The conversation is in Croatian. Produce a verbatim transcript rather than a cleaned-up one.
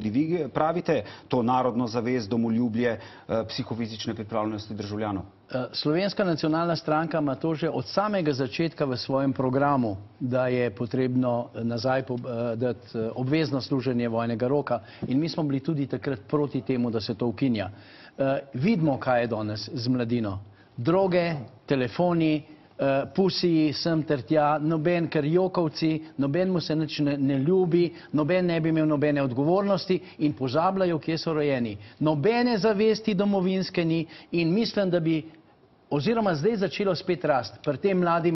Vi pravite to narodno zavest, domoljubje, psihofizične pripravljenosti državljanov? Slovenska nacionalna stranka ima to že od samega začetka v svojem programu, da je potrebno nazaj dati obvezno služenje vojnega roka, in mi smo bili tudi takrat proti temu, da se to ukinja. Vidimo, kaj je danes z mladino. Droge, telefoni, pusiji, sem ter tja, noben karjokovci, noben mu se nič ne, ne ljubi, noben ne bi imel nobene odgovornosti in pozabljajo, kje so rojeni. Nobene zavesti domovinske ni in mislim, da bi oziroma zdaj začelo spet rast pri tem mladim